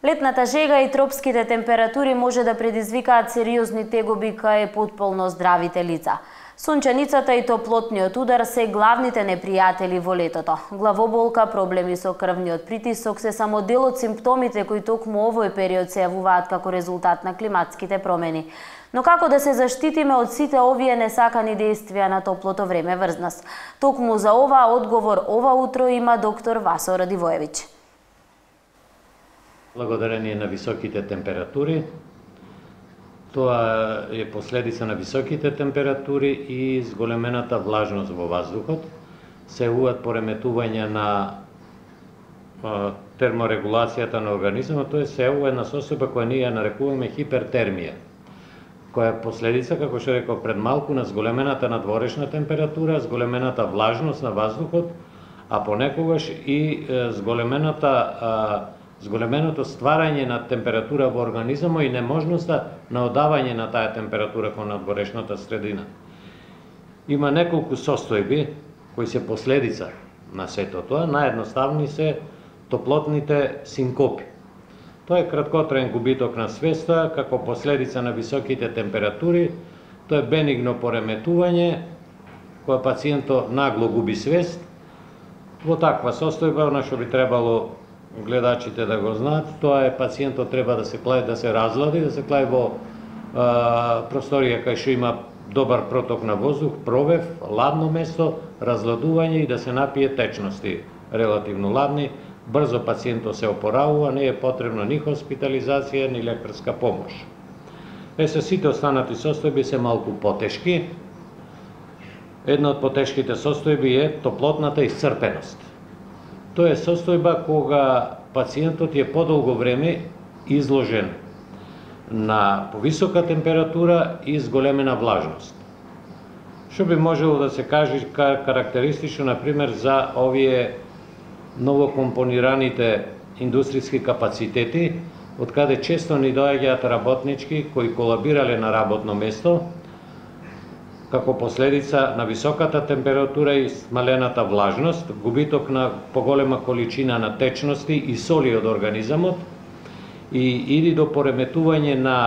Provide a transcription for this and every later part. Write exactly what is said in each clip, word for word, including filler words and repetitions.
Летната жега и тропските температури може да предизвикаат сериозни тегоби кај потполно здравите лица. Сонченицата и топлотниот удар се главните непријатели во летото. Главоболка, проблеми со крвниот притисок се само дел од симптомите кои токму овој период се јавуваат како резултат на климатските промени. Но како да се заштитиме од сите овие несакани действија на топлото време врз нас? Токму за ова одговор ова утро има доктор Васо Радивоевиќ. Благодарение на високите температури, тоа е последица на високите температури и зголемената влажност во воздухот, се јавуваат пореметување на терморегулацијата на организмот, тоа се јавува една состојба која ние ја нарекуваме хипертермија, која е последица, како што реков пред малку, на зголемената надворешна температура, зголемената влажност на воздухот, а понекогаш и зголемената зголеменото стварање на температура во организмот и неможноста на одавање на таа температура кон надворешната средина. Има неколку состојби кои се последица на сето тоа. Наједноставни се топлотните синкопи. Тоа е краткотраен губиток на свеста како последица на високите температури. Тоа е бенигно пореметување кога пациентот нагло губи свест. Во таква состојба, на што би требало гледачите да го знаат, тоа е пациентот треба да се клаи, да се разлади, да се клаи во а, просторија кај што има добар проток на воздух, провев, ладно место, разладување и да се напие течности релативно ладни. Брзо пациентот се опоравува, не е потребно ни хоспитализација, ни лекарска помош. Е, се сите останати состојби се малку потешки. Една од потешките состојби е топлотната исцрпеност. Тоа е состојба кога пациентот е подолго време изложен на повисока температура и зголемена влажност. Што би можело да се каже карактеристично, например, за овие новокомпонираните индустријски капацитети, од каде често ни доаѓаат работнички кои колабирале на работно место, како последица на високата температура и смалената влажност, губиток на поголема количина на течности и соли од организмот и иди до пореметување на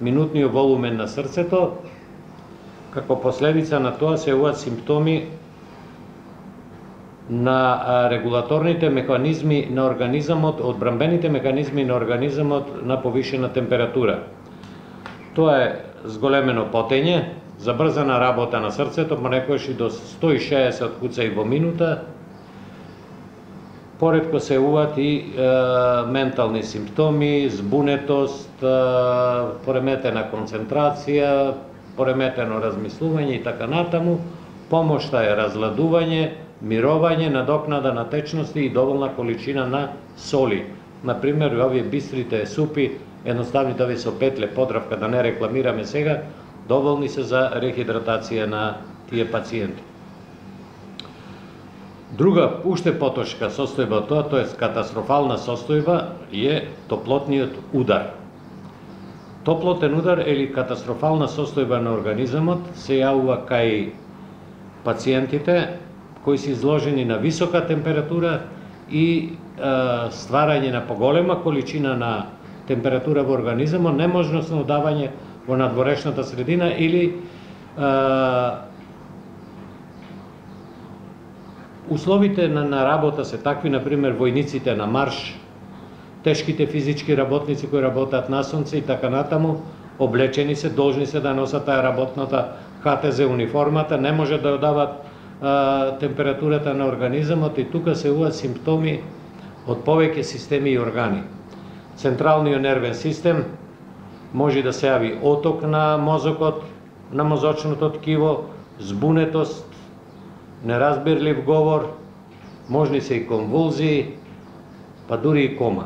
минутниот волумен на срцето. Како последица на тоа се јавуваат симптоми на регулаторните механизми на организмот, одбранбените механизми на организмот на повишена температура. Тоа е зголемено потење, забрзана работа на срцето, понекогаш и до сто и шеесет куцаи во минута. Поретко се јавуваат и е, ментални симптоми, збунетост, е, пореметена концентрација, пореметено размислување и така натаму. Помошта е разладување, мировање, надокнада на течности и доволна количина на соли. Например, овие бистрите супи, едноставните овие со петле, подравка, да не рекламираме сега, доволни се за рехидратација на тие пациенти. Друга, уште потошка состојба тоа, тоа е катастрофална состојба, е топлотниот удар. Топлотен удар или катастрофална состојба на организмот се јавува кај пациентите кои се изложени на висока температура и е, стварање на поголема количина на температура во организмот, неможност на одавање во надворешната средина или е, условите на, на работа се такви, например, војниците на марш, тешките физички работници кои работат на сонце и така натаму, облечени се, должни се да носат таа работната ха те зе униформата, не може да одават е, температурата на организмот и тука се јавуваат симптоми од повеќе системи и органи. Централниот нервен систем, може да се јави оток на мозокот, на мозочното ткиво, збунетост, неразбирлив говор, можни се и конвулзии, па дури и кома.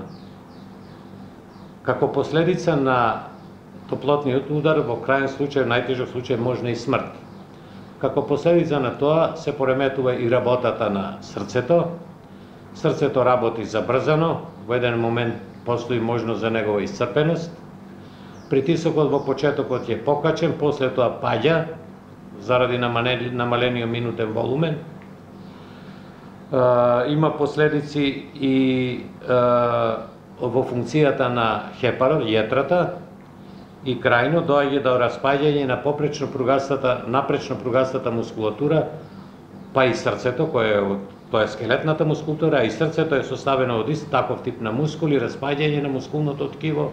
Како последица на топлотниот удар, во крајен случај, најтежок случај, можна и смрт. Како последица на тоа се пореметува и работата на срцето. Срцето работи забрзано, во еден момент постои можност за негова исцрпеност. Притисокот во почетокот е покачен, после тоа паѓа заради намалениот минутен волумен. Има последици и во функцијата на хепарот, јетрата, и крајно доаѓа до распаѓање на попречно пругастата, напречно пругастата мускулатура, па и срцето, кое е тоа е скелетната мускулатура, а и срцето е составено од ист таков тип на мускули, распаѓање на мускулното ткиво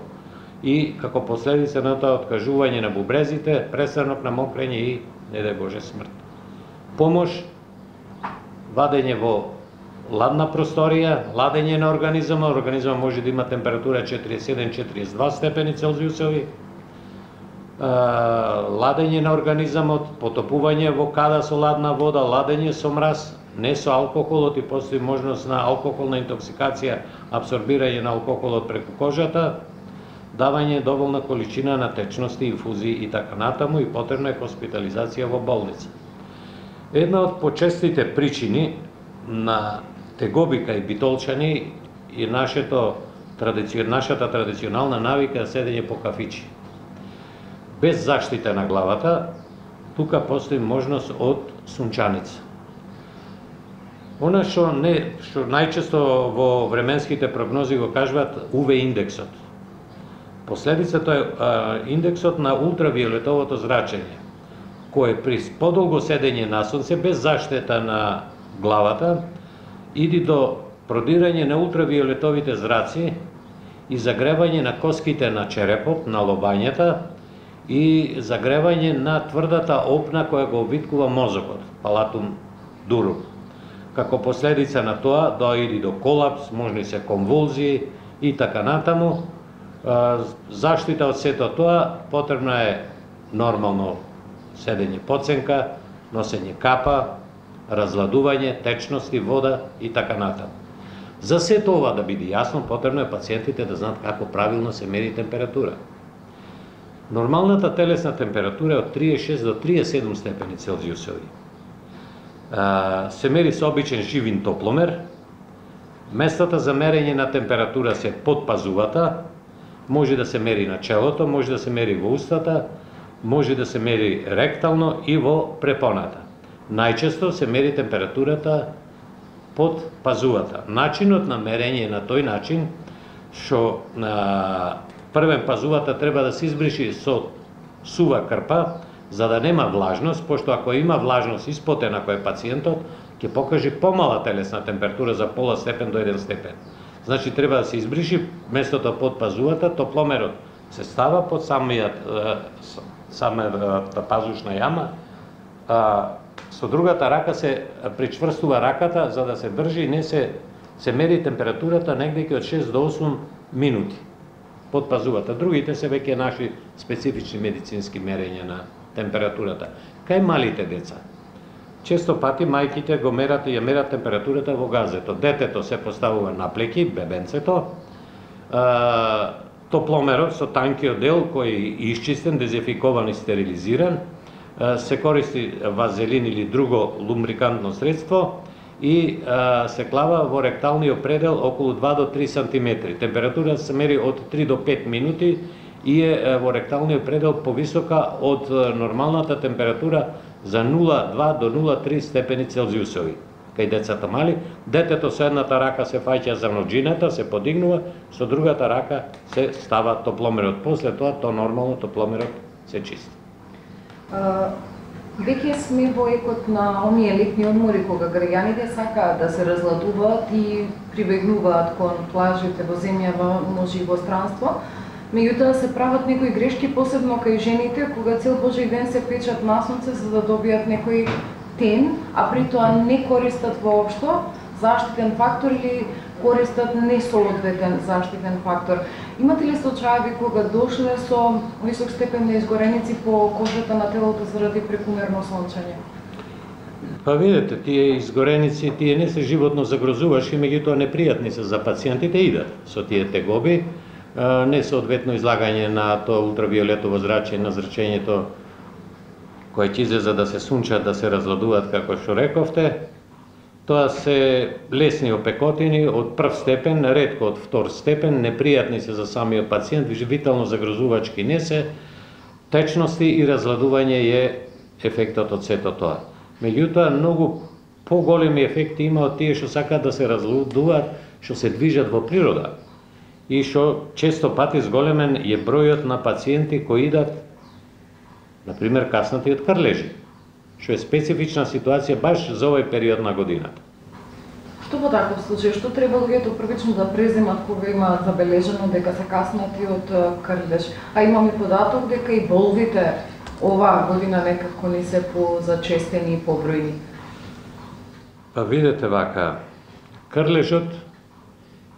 и како последица на тоа откажување на бубрезите, престанок на мокрење и, не дај Боже, смрт. Помош, вадење во ладна просторија, ладење на организма, организма може да има температура четириесет и седум до четириесет и два степени Целзиусови, ладење на организмот, потопување во када со ладна вода, ладење со мраз, не со алкохолот и постои можност на алкохолна интоксикација, абсорбирање на алкохолот преку кожата, давање доволна количина на течности, инфузии и така натаму и потребна е хоспитализација во болница. Една од почестите причини на тегоби кај битолчани и нашето, нашата традиционална навика е седење по кафичи. Без заштита на главата, тука постои можност од сунчаница. Она што не, што најчесто во временските прогнози го кажуваат У В индексот. Последицата е а, индексот на ултравиолетовото зрачење, кој при подолго седење на сонце без заштита на главата иди до продирање на ултравиолетовите зраци и загревање на коските на черепот, на лобањата и загревање на тврдата опна која го обвиткува мозокот, палатум дурум. Како последица на тоа доаѓа до колапс, можни се конвулзии и така натаму. Заштита од сето тоа потребна е нормално седење подсенка, носење капа, разладување, течности, вода и така натаму. За сето ова да биде јасно, потребно е пациентите да знаат како правилно се мери температура. Нормалната телесна температура е од триесет и шест до триесет и седум степени Целзиусови. Се мери со обичен живин топломер. Местата за мерење на температура се под пазувата, може да се мери на челото, може да се мери во устата, може да се мери ректално и во препоната. Најчесто се мери температурата под пазувата. Начинот на мерење на тој начин, што на првен пазувата треба да се избриши со сува крпа, за да нема влажност, пошто ако има влажност испотена кој е пациентот, ќе покаже помала телесна температура за пола степен до еден степен. Значи треба да се избриши местото под пазувата, топломерот се става под самиот самата пазушна јама, а, со другата рака се причврстува раката за да се држи и не се се мери температурата негде од шест до осум минути под пазувата. Другите се веќе наши специфични медицински мерења на температурата. Кај малите деца, често пати мајките го мерат и ја мерат температурата во газето. Детето се поставува на плеки, бебенцето, а, топломерот со танкиот дел кој е исчистен, дезинфикован и стерилизиран, а, се користи вазелин или друго лумбрикантно средство и а, се клава во ректалниот предел околу два до три сантиметри. Температурата се мери од три до пет минути и е во ректалниот предел повисока од нормалната температура за нула целу два до нула целу три степени Целзиусови. Кај децата мали, детето со едната рака се фаќа за ноџината, се подигнува, со другата рака се става топломерот. После тоа, то нормално топломерот се чисти. Веќе сме во екот на оние летни одмори кога граѓаните сакаат да се разладуваат и прибегнуваат кон плажите во земјава, може и во странство. Меѓутоа се прават некои грешки, посебно кај жените, кога цел Божи ден се печат на сонце за да добијат некој тен, а при тоа не користат воопшто заштитен фактор или користат несоодветен заштитен фактор. Имате ли случаи кога дошле со висок степен на изгореници по кожата на телото заради прекумерно сончење? Па видете, тие изгореници, тие не се животно загрозувашки, меѓутоа непријатни се за пациентите, идат со тие тегоби, несоодветно излагање на тоа ултравиолетово зрачење, на зрачењето кој ќе излезе да се сунчат, да се разладуваат, како што рековте. Тоа се лесни опекотини од прв степен, ретко од втор степен, непријатни се за самиот пациент, витално загрозувачки не се, течности и разладување е ефектот од сето тоа. Меѓутоа, многу поголеми ефекти има од тие што сакаат да се разладуваат, што се движат во природа. и што често пати зголемен е бројот на пациенти кои идат, например, каснати од крлежи, што е специфична ситуација баш за овој период на годината. Што во таков случај, што треба луѓето првично да преземат кога имаат забележено дека се каснати од крлеж? А имаме податок дека и боловите оваа година некако не се позачестени и побројни. Па видете вака, крлежот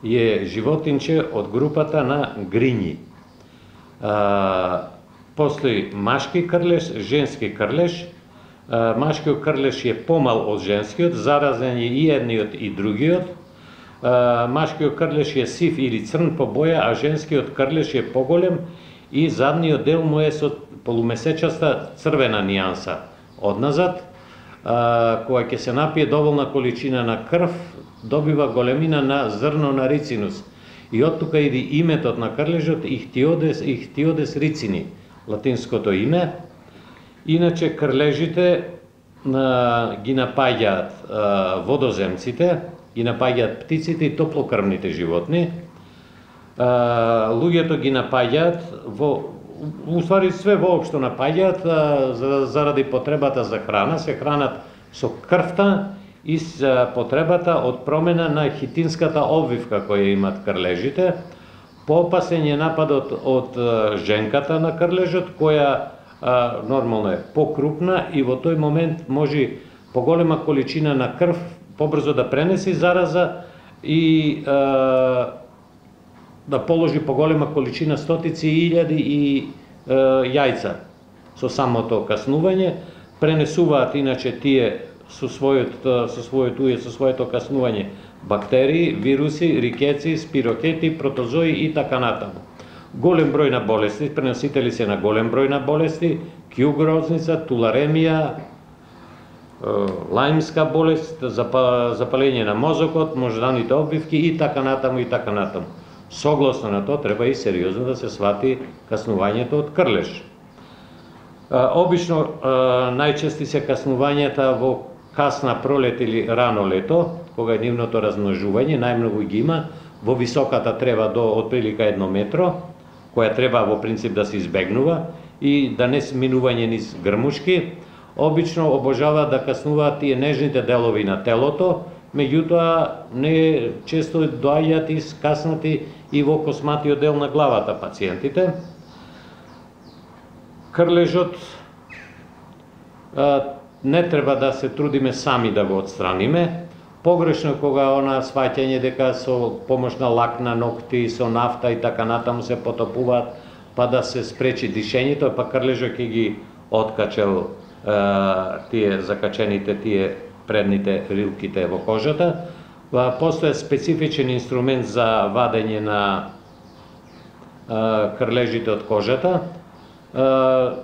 е животинче од групата на грињи. А, постои машки крлеж, женски крлеж. А, машкиот крлеж е помал од женскиот, заразен е и едниот и другиот. А, машкиот крлеж е сив или црн по боја, а женскиот крлеж е поголем и задниот дел му е со полумесечаста црвена нијанса одназад. А, кога ќе се напие доволна количина на крв, добива големина на зрно на рицинус. И од тука иде иметот на крлежот Ихтиодес, Ихтиодес рицини, латинското име. Иначе крлежите а, ги напаѓаат а, водоземците, ги напаѓаат птиците и топлокрвните животни. А, луѓето ги напаѓаат во уствари све воопшто напаѓаат за, заради потребата за храна, се хранат со крвта и с потребата од промена на хитинската обвивка која имат крлежите. Поопасен е нападот од женката на крлежот, која а, нормално е покрупна и во тој момент може поголема количина на крв побрзо да пренеси зараза и а, да положи поголема количина стотици илјади и е, јајца со самото каснување. Пренесуваат иначе тие со својот со својот ује, со своето каснување бактерии, вируси, рикеци, спирокети, протозои и така натаму. Голем број на болести, преносители се на голем број на болести, кјугрозница, туларемија, лајмска болест, запалење на мозокот, можданите обвивки и така натаму и така натаму. Согласно на тоа треба и сериозно да се свати каснувањето од крлеж. Обично најчести се каснувањата во касна пролет или рано лето, кога е нивното размножување, најмногу ги има во високата трева до отприлика едно метро, која треба во принцип да се избегнува и да не сминување низ грмушки. Обично обожаваат да каснуваат тие нежните делови на телото, меѓутоа не често доаѓаат и скаснати и во косматиот дел на главата пациентите. Крлежот а, не треба да се трудиме сами да го отстраниме. Погрешно кога она сваќање дека со помош на лак на ногти, со нафта и така натаму се потопуваат, па да се спречи дишењето, па крлежот ќе ги откачел а, тие закачените тие предните рилките во кожата. Постоја специфичен инструмент за вадење на а, крлежите од кожата. А,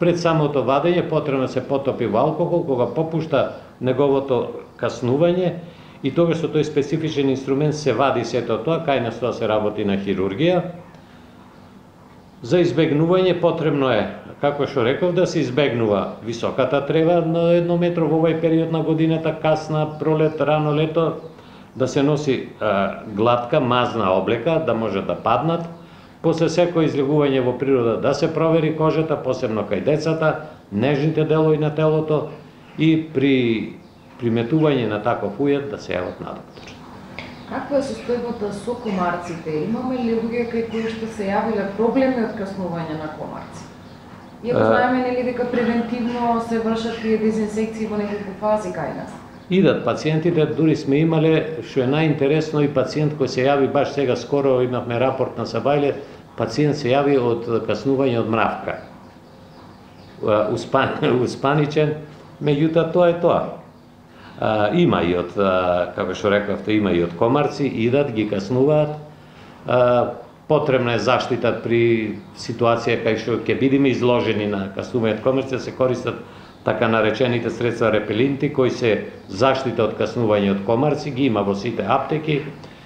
пред самото вадење потребно се потопи во алкохол, кога попушта неговото каснување и тогаш со тој специфичен инструмент се вади сето тоа, кај нас тоа се работи на хирургија. За избегнување потребно е, како што реков, да се избегнува високата трева на едно метро во овој период на годината, касна пролет, рано лето, да се носи а, глатка, мазна облека, да може да паднат. После секој излегување во природа да се провери кожата, посебно кај децата, нежните делови на телото и при приметување на таков ујед да се јават на доктор. Каква е состојбата со комарците? Имаме ли луѓе кај кои што се јавиле проблеми од каснување на комарци? Иако знаеме нели дека превентивно се вршат тие дезинсекции во неколку фази кај нас? Идат пациентите, дури сме имале, што е најинтересно, и пациент кој се јави баш сега скоро имавме рапорт на Сабајле, пациент се јави од каснување од мравка. Успан, успаничен, меѓутоа тоа е тоа. А, има и од, а, како што рековте, има и од комарци, идат, ги каснуваат. А, потребна е заштита при ситуација кај што ќе бидеме изложени на каснување од комарци, да се користат така наречените средства репелинти, кои се заштита од каснување од комарци, ги има во сите аптеки,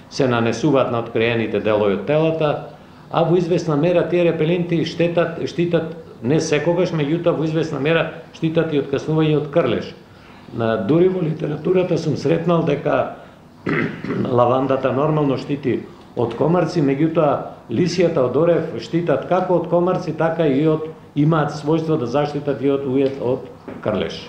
се нанесуваат на откриените делови од телата, а во известна мера тие репелинти штетат, штитат не секогаш, меѓутоа во известна мера штитат и од каснување од крлеж. На дури во литературата сум сретнал дека лавандата нормално штити од комарци, меѓутоа лисијата од орев штитат како од комарци, така и од имаат својство да заштитат и од ует од крлеш.